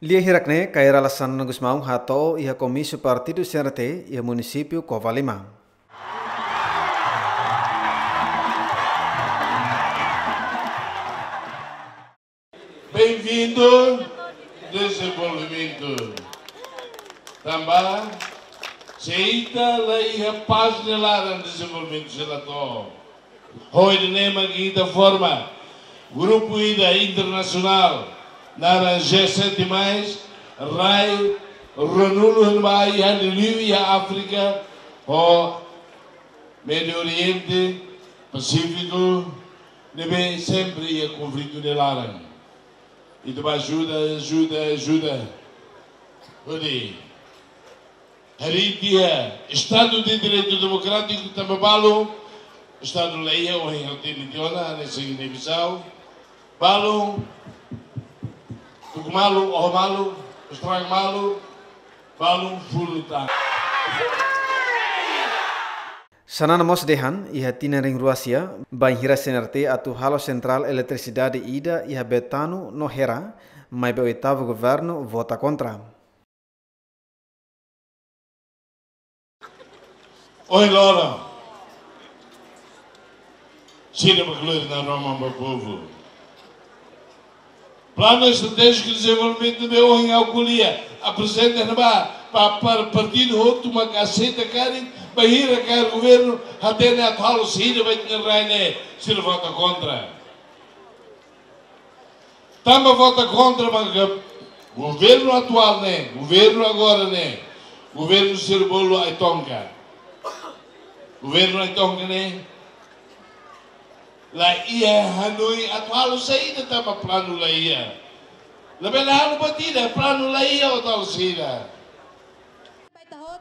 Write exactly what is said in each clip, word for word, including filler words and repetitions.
Lia hirak ne'e, Kay Rala Xanana Gusmão hato'o iha komísiu partidu C R T iha munisípiu Covalima. Bem-vindo, desenvolvimento. Tanba, se ita la iha pás ne'e laran dezenvolvimentu sei la to'o. Ho ida-ne'e mak ita forma grupu ida internasionál naran G sete mais, rai ruanulu ne'ebé iha liuliu iha Áfrika, ho Médiu Oriente, Pasífiku, ne'ebé sempre iha konflitu nia laran. Ita bá ajuda, ajuda, ajuda. Hodi harii tiha Estadu de Direitu Demokrátiku tanba balu, Estadu la iha, ohin ha'u hatene tiha ona, hanesan Guiné-Bissau. Balu, tuku malu, oho malu, estraga malu, balu funu tan. Xanana mós dehan, iha tinan rihun rua sia, bainhira C N R T atu halo sentrál eletrisidade ida iha Betano no Hera, maibé oitavu governu vota kontra. Ohin loron, sira bá kleur naroman ba povu. Planu Estratéjiku de Dezenvolvimentu ne'ebé ohin ha'u ko'alia, aprezenta ne'ebá, pa, pa partidu hotu mak aseita karik, bainhira kaer governu, hatene atu halo saida ba ita-nia rai ne'e, sira vota kontra. Tanba vota kontra maka governu atuál ne'e, governu agora ne'e, governu sira bolu ai-tonka. Governu ai-tonka ne'e la iha hanoin atu halo saida tanba planu la iha. Labele halo buat ida, planu la iha atu halo saida.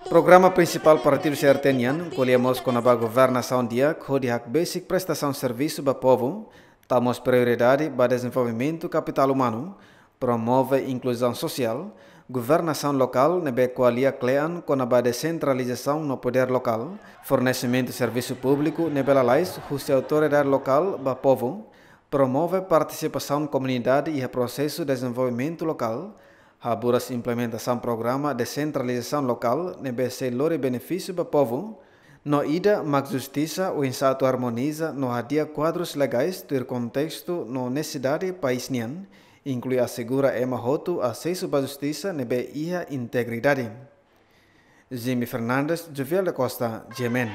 Programa prinsipál partidu C R T nian ko'alia mós kona-ba governasaun di'ak hodi hakbesik prestasaun servisu ba povu, tau mós prioridade ba dezenvolvimentu kapitál umanu, promove inkluzaun sosiál, governasaun lokál ne'ebé ko'alia kle'an kona-ba desentralizasaun no podér lokál, fornesimentu servisu públiku ne'ebé lalais husi autoridade lokál ba povu, promove partisipasaun komunidade iha prosesu dezenvolvimentu lokál, haburas implementasaun programa desentralizasaun lokál ne'ebé sei lori benefísiu ba povu, no ida mak justisa oinsá atu armoniza no hadi'a kuadrus legais tuir kontestu no nesesidade país nian, inklui asegura ema hotu asesu ba justisa ne'ebé iha integridade. Jimmy Fernandes, Jovial da Costa, G M N.